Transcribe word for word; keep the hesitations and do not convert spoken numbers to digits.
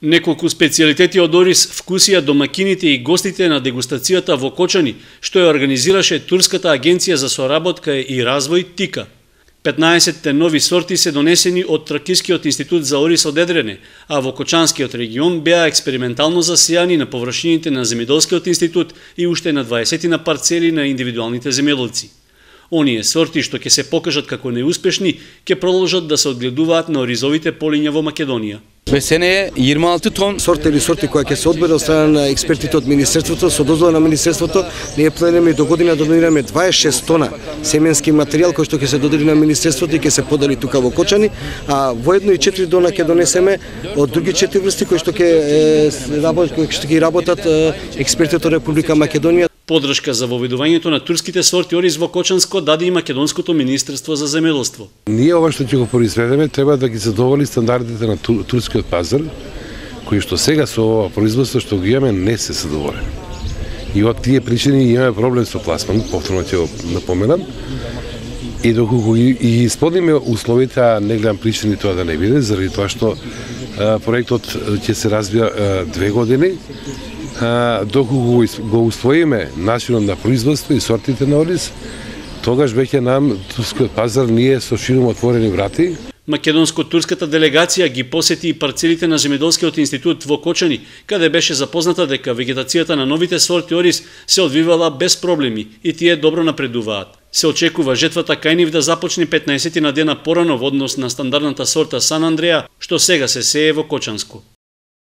Неколку специјалитети од ориз вкусија домакините и гостите на дегустацијата во Кочани, што ја организираше Турската агенција за соработка и развој ТИКА. петнаесет нови сорти се донесени од Тракискиот институт за ориз од Едрене, а во Кочанскиот регион беа експериментално засејани на површините на Земјоделскиот институт и уште на дваесет на парцели на индивидуалните земјоделци. Оние сорти што ќе се покажат како неуспешни, ќе продолжат да се одгледуваат на оризовите полиња во Македонија. Весене jirmi altı ton сорт или сорти која ќе се одбере од страна на експертите од Министерството, со дозвола на Министерството, ние планираме до година да донираме дваесет и шест тона семенски материјал кој што ќе се додели на Министерството и ќе се подели тука во Кочани, а воедно и четири тона ќе донесеме од други четири врсти кои што ќе работат, кои што ќе работат експертите од Република Македонија. Подршка за воведувањето на турските сорти ориз во Кочанско даде и Македонското министерство за земјоделство. Ние ова што ќе го произведеме треба да ги задоволи стандардите на тур, турскиот пазар, кои што сега со ова производство што ги имаме не се задоволени. И од тие причини имаме проблем со пласман, повторно ќе го напоменам. И доколку и исполниме условите, а не гледам причини тоа да не биде, заради тоа што а, проектот ќе се развија а, две години. Доколку го усвоиме начинот на производство и сортите на ориз, тогаш веќе нам турскиот пазар ние со широко отворени врати. Македонско-турската делегација ги посети и парцелите на Земјоделскиот институт во Кочани, каде беше запозната дека вегетацијата на новите сорти ориз се одвивала без проблеми и тие добро напредуваат. Се очекува жетвата кај нив да започне петнаесет на дена порано во однос на стандардната сорта Сан Андреа, што сега се сее во Кочанско.